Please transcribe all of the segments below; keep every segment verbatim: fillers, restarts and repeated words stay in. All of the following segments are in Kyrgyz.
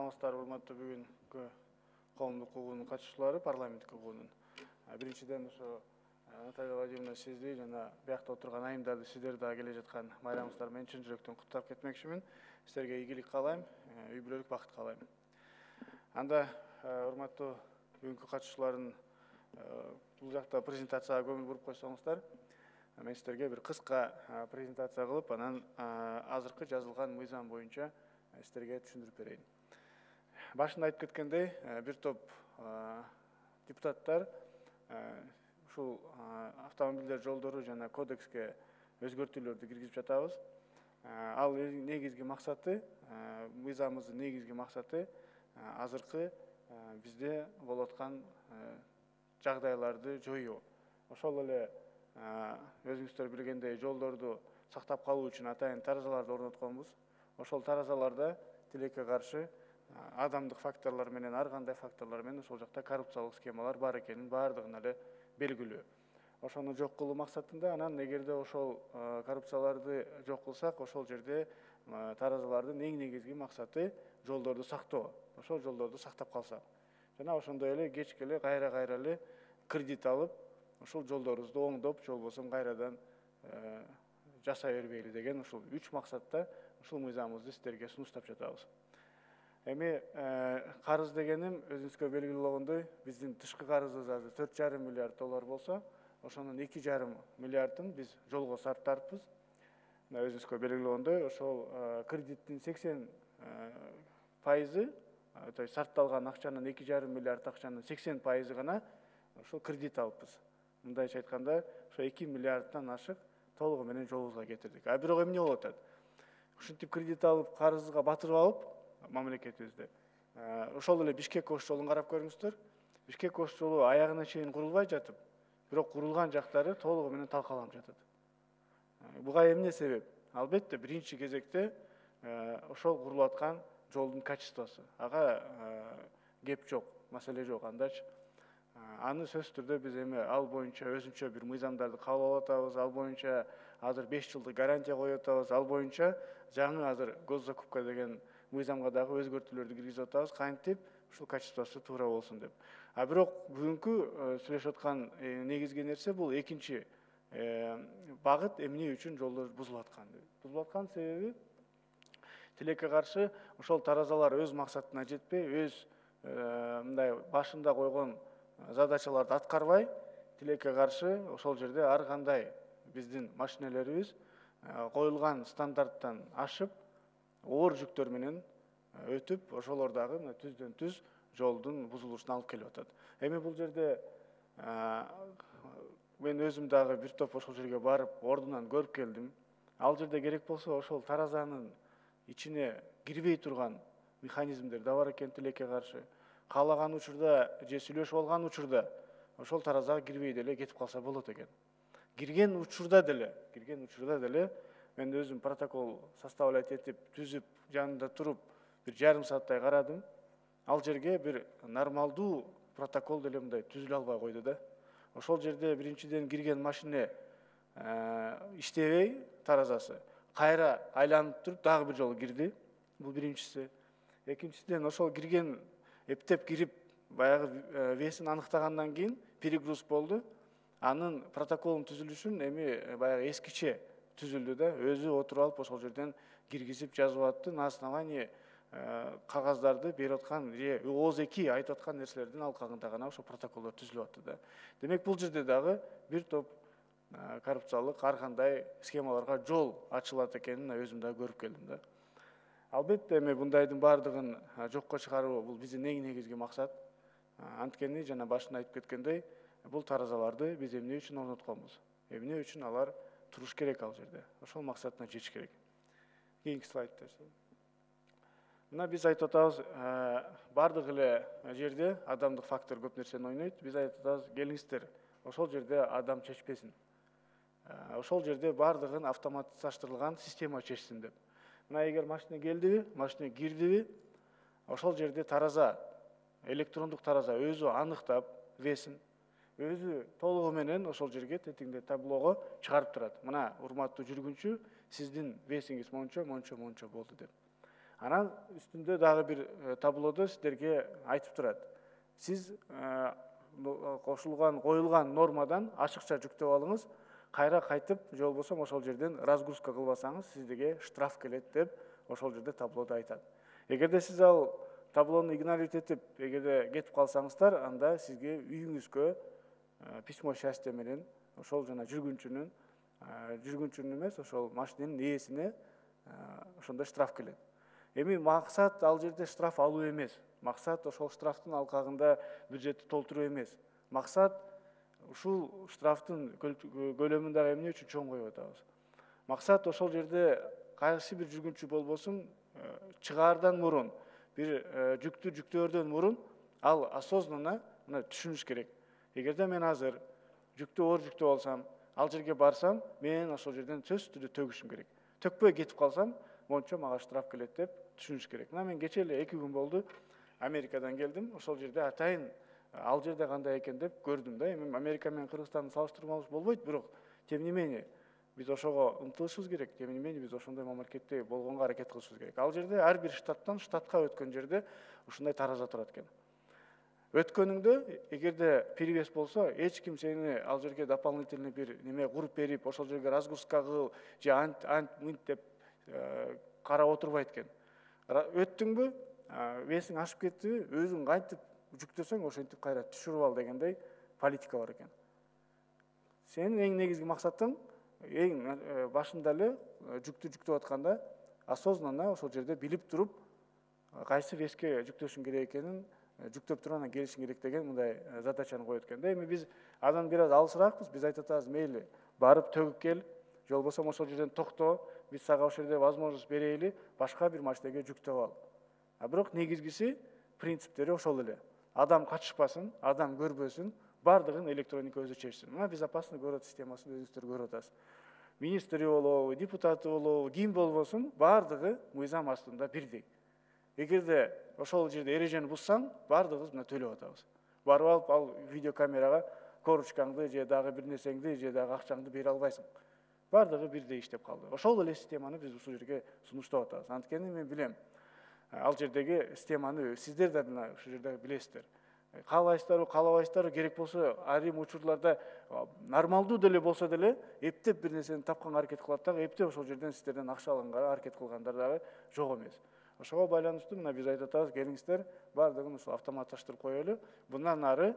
саламатсыздар, урматтуу бүгүнкү коомдук угуунун катышуучулары, парламенттик угуунун. Биринчиден ошо Наталья Владимировна сизди жана биякта отурган айымдарды, сиздерди дагы келе жаткан майрамыңыздар менен чын жүрөктөн куттуктап кетмекчимин. Сиздерге ийгилик каалайм, үй бүлөлүк бакыт каалайм. Анда урматтуу бүгүнкү катышуучулардын бул жакта презентацияга көңүл буруп койсоңуздар, мен сиздерге бир кыска презентация кылып, анан азыркы жазылган мыйзам боюнча сиздерге түшүндүрүп берейин. Башында айтып кеткендей, бир топ депутаттар ушул автомобилдер жолдору жана кодекске өзгөртүүлөрдү киргизип жатабыз. Ал негизги максаты, мыйзамыбыздын негизги максаты азыркы бизде болуп аткан жагдайларды жоюу. Ошол эле өзүңүздөр билгендей жолдорду сактап калуу үчүн атайын таразаларды орнотконбуз. Ошол таразаларда тилекке каршы адамдык факторлор менен, ар кандай факторлор менен ошол жакта коррупциялык схемалар бар экенин баардыгын эле белгилүү. Ошону жок кылуу максатында, анан эгерде ошол коррупцияларды жок кылсак, ошол жерде таразалардын эң негизги максаты жолдорду сактоо. Ошол жолдорду сактап калсак. Жана ошондой эле кечке эле кайра-кайра эле кредит алып, ошол жолдорубузду оңдоп, же болбосо кайрадан жасай бербейли деген ушул үч максатта ушул мыйзамыбызды сиздерге сунуштап жатабыз. Эми карыз дегеним өзүңүзгө белгилүү болгондой, биздин тышкы карызыбыз азыр төрт жарым миллиард доллар болсо, ошонун эки жарым миллиардын биз жолго сарптарбыз. Өзүңүзгө белгилүү болгондой, ошол кредиттин сексен пайызы, то есть сарпталган акчанын эки жарым миллиард акчанын сексен пайызы гана ошол кредит алыппыз. Мындайча айтканда, ошо эки миллиарддан ашык толугу менен жолубузга кетирдик. А бирок эмне болуп атат? Ушинтип кредит алып, карызга батырып алып, мамлекетибизде. Ошол эле Бишкек ош жолун карап көрүңүздөр. Бишкек ош жолу аягына чейин курулбай жатып, бирок курулган жактары толугу менен талкаланып жатат. Буга эмне себеп? Албетте, биринчи кезекте ошол курулуп аткан жолдун качествосу. Ага кеп жок, маселе жок, андачы. Аны сөзсүз түрдө биз эми ал боюнча өзүнчө бир мыйзамдарды кабыл алып атабыз, ал боюнча азыр беш жылдык гарантия коюп атабыз, ал боюнча жаңы азыр госзакупка деген мыйзамга дагы өзгөртүүлөрдү киргизип атабыз, кантип ушул качествосу туура болсун деп. А бирок бүгүнкү сүйлөшүп аткан негизги нерсе бул экинчи багыт, эмне үчүн жолдор бузулуп аткан. Бузулуп аткан себеби тилекке каршы ошол таразалар өз максатына жетпей, өз мындай башында койгон задачаларды аткарбай, тилекке каршы ошол жерде ар кандай биздин машинелерибиз коюлган стандарттан ашып, оор жүктөр менен өтүп, ошолор дагы түздөн түз жолдун бузулушуна алып келип атат. Эми бул жерде мен өзүм дагы бир топ ошол жерге барып, ордунан көрүп келдим. Ал жерде керек болсо ошол таразанын ичине кирбей турган механизмдер да бар экен тилекке каршы. Каалаган учурда же сүйлөшүп алган учурда ошол таразага кирбей деле кетип калса болот экен. Кирген учурда деле, кирген учурда деле мен өзүм протокол составлять этип, түзүп, жанында туруп, бир жарым сааттай карадым. Ал жерге бир нормалдуу протокол деле мындай түзүлө албай койду да. Ошол жерде биринчиден кирген машине иштебей таразасы, кайра айланып туруп дагы бир жолу кирди. Бул биринчиси. Экинчиден ошол кирген эптеп кирип, баягы весин аныктагандан кийин перегруз болду. Анын протоколун түзүлүшүн эми баягы эскиче түзүлдү да, өзү отуруп алып ошол жерден киргизип жазып атты. На основании кагаздарды берип аткан, же ооз эки айтып аткан нерселердин алкагында гана ошол протоколдор түзүлүп атты да. Демек бул жерде дагы бир топ коррупциялык ар кандай схемаларга жол ачылат экенин өзүм дагы көрүп келдим да. Албетте, эми мындайдын баардыгын жокко чыгаруу бул биздин эң негизги максат. Анткени жана башында айтып кеткендей, бул таразаларды биз эмне үчүн орнотконбуз? Эмне үчүн алар туруш керек ал жерде? Ошол максатына жетиш керек. Кийинки слайдты. Мына биз айтып атабыз, бардык эле жерде адамдык фактор көп нерсени ойнойт. Биз айтып атабыз, келиңиздер, ошол жерде адам чечпесин. Ошол жерде бардыгын автоматташтырылган система чечсин деп. Мына эгер машина келдиби, машина кирдиби, ошол жерде тараза, электрондук тараза өзү аныктап весин, өзү толугу менен ошол жерге тетиңде таблого чыгарып турат. Мына урматтуу жүргүнчү, сиздин весиңиз мончо, мончо, мончо болду деп. Анан үстүндө дагы бир таблодо сиздерге айтып турат. Сиз кошулган, коюлган нормадан ашыкча жүктөп алыңыз, кайра кайтып, же болбосо ошол жерден разгрузка кылбасаңыз, сизге штраф келет деп ошол жерде таблодо айтат. Эгерде сиз ал таблону игнорировать этип, эгерде кетип калсаңыздар, анда сизге үйүңүзгө письмо счастья менен ошол жана жүргүнчүнүн жүргүнчүнүн эмес, ошол машинанын ээсине ошондой штраф келет. Эми максат ал жерде штраф алуу эмес. Максат ошол штрафтын алкагында бюджетти толтуруу эмес. Максат ушул штрафтын көлөмүн дагы эмне үчүн чоң коюп атабыз. Максат ошол жерде кайсы бир жүргүнчү болбосун, чыгаардан мурун, бир жүктү жүктөөрдөн мурун ал осознанно мына түшүнүш керек. Эгерде мен азыр жүктү оор жүктөп алсам, ал жерге барсам, мен ошол жерден сөзсүз түрдө төгүшүм керек. Төкпөй кетип калсам, мончо мага штраф келет деп түшүнүш керек. Мына мен кече эле эки күн болду Америкадан келдим. Ошол жерде атайын ал жерде кандай экен деп көрдүм да. Эми Америка менен Кыргызстанды салыштырмалыш болбойт, бирок тем не менее биз ошого умтулушубуз керек. Тем не менее биз ошондой мамлекетте болгонго аракет кылышыбыз керек. Ал жерде ар бир штаттан штатка өткөн жерде ушундай тараза турат экен. Өткөнүңдө эгерде перевес болсо, эч ким сени ал жерге дополнительный бир неме куруп берип, ошол жерге разгрузка кыл же ант ант мынт деп карап отурбайт экен. Өттүңбү, весиң ашып кеттиби, өзүң кантип жүктөсөң, ошентип кайра түшүрүп ал дегендей политика бар экен. Сенин эң негизги максатың эң башында эле жүктү жүктөп атканда осознанно ошол жерде билип туруп, кайсы веске жүктөшүң керек экенин жүктөп туруп анан келишиң керек деген мындай задачаны коет экен да. Эми биз андан бир аз алысыраакпыз, биз айтып атабыз, мейли барып төгүп кел, же болбосо ошол жерден токто, биз сага ошол жерде возможность берели, башка бир машинеге жүктөп ал. А бирок негизгиси принциптери ошол эле. Адам катышпасын, адам көрбөсүн, бардыгын электроника өзү чечсин. Мына безопасный город системасын өзүңүздөр көрүп атасыз. Министри болобу, депутаты болобу, ким болбосун, бардыгы мыйзам астында бирдей. Эгерде ошол жерде эрежени бузсаң, бардыгыбыз мына төлөп атабыз. Барып алып ал видеокамерага коручкаңды же дагы бир нерсеңди же дагы акчаңды бере албайсың. Бардыгы бирдей иштеп калды. Ошол эле системаны биз ушул жерге сунуштап атабыз. Анткени мен билем, ал жердеги системаны сиздер да мына ушул жерде билесиздер. Каалайсыздарбы, каалабайсыздарбы, керек болсо айрым учурларда нормалдуу деле болсо деле эптеп бир нерсени тапканга аракет кылат дагы, эптеп ошол жерден сиздерден акча алганга аракет кылгандар дагы жок эмес. Ошого байланыштуу мына биз айтып атабыз, келиңиздер, бардыгын ушул автоматташтырып коелу. Bundan ары,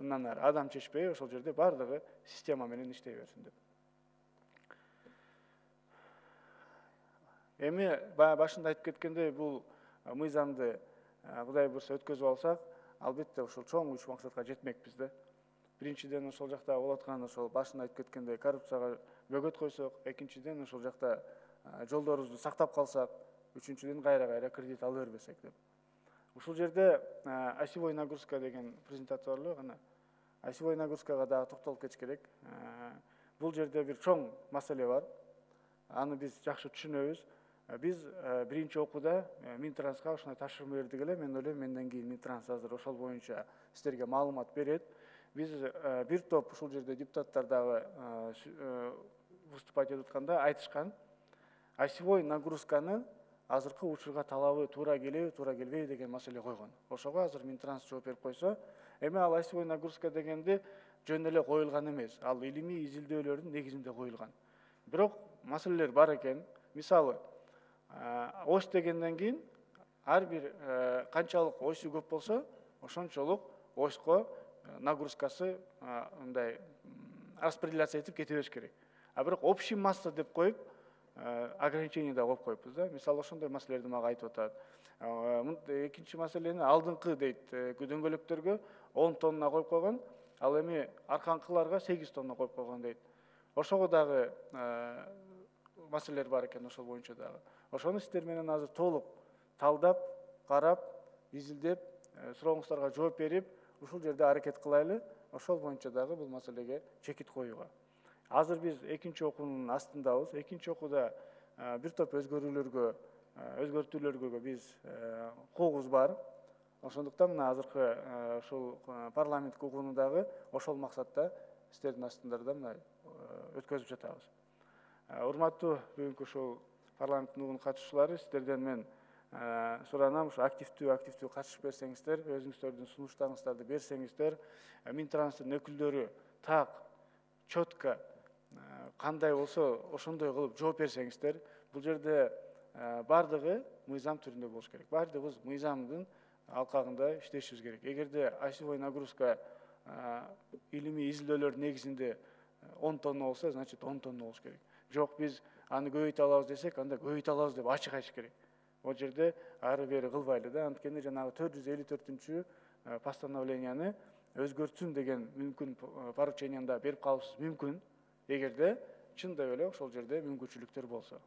bundan ары адам чечпей ошол жерде бардыгы система менен иштей берсин деп. Эми башында айтып кеткендей, бул мыйзамды Кудай буйрса өткөзүп алсак, албетте ошол чоң үч максатка жетмекпиз да. Биринчиден ошол жакта болуп аткан ошол башында айтып кеткендей коррупцияга бөгөт койсок, экинчиден ошол жакта жолдорубузду сактап калсак, үчүнчүдөн кайра-кайра кредит ала бербесек деп. Ушул жерде осевой нагрузка деген презентация бар эле, кана осевой нагрузкага дагы токтолуп кетиш керек. Бул жерде бир чоң маселе бар. Аны биз жакшы түшүнөбүз. Биз биринчи окууда Минтранска ушундай тапшырма бердик эле. Мен ойлойм, менден кийин Минтранс азыр ошол боюнча сиздерге маалымат берет. Биз бир топ ушул жерде депутаттар дагы выступать этип атканда айтышкан. Осевой нагрузканы азыркы учурга талабы туура келеби, туура келбейби деген маселе койгон. Ошого азыр Минтранс жооп берип койсо, эми ал осевой нагрузка дегенди жөн эле коюлган эмес. Ал илимий изилдөөлөрдүн негизинде коюлган. Бирок маселелер бар экен. Мисалы, ось дегенден кийин ар бир канчалык осу көп болсо, ошончолук осько нагрузкасы мындай распределяция этип кете бериш керек. А бирок общий масса деп коюп ограничение да коюп коюппуз да. Мисалы, ошондой маселелерди мага айтып атат. Экинчи маселени алдыңкы дейт, дөңгөлөктөргө он тонна коюп койгон, ал эми арканкыларга сегиз тонна коюп койгон дейт. Ошого дагы маселелер бар экен, ошол боюнча дагы. Ошону сиздер менен азыр толук талдап, карап, изилдеп, сурооңуздарга жооп берип, ушул жерде аракет кылайлы. Ошол боюнча дагы бул маселеге чекит коюуга. Азыр биз экинчи окуунун астындабыз. Экинчи окууда бир топ өзгөрүүлөргө, өзгөртүүлөргө биз куугубуз бар. Ошондуктан мына азыркы ушул парламент угууну дагы ошол максатта сиздердин астыңарда мына өткөзүп жатабыз. Урматтуу бүгүнкү ушул парламенттин угуунун катышуучулары, сиздерден мен суранам, ушу активдүү активдүү катышып берсеңиздер, өзүңүздөрдүн сунуштарыңыздарды берсеңиздер, Минтранстын өкүлдөрү так, четко кандай болсо ошондой кылып жооп берсеңиздер, бул жерде бардыгы мыйзам түрүндө болуш керек. Бардыгыбыз мыйзамдын алкагында иштешибиз керек. Эгерде осевой нагрузка илимий изилдөөлөр негизинде он тонна болсо, значит он тонна болуш керек. Жок, биз аны көбөйтө алабыз десек, анда көбөйтө алабыз деп ачык айтыш керек. Ол жерде ары бери кылбайлы да, анткени жанагы төрт жүз элүү төртүнчү постановленияны өзгөртсүн деген мүмкүн порученияны да берип калышыбыз мүмкүн, эгерде чындап эле ошол жерде мүмкүнчүлүктөр болсо.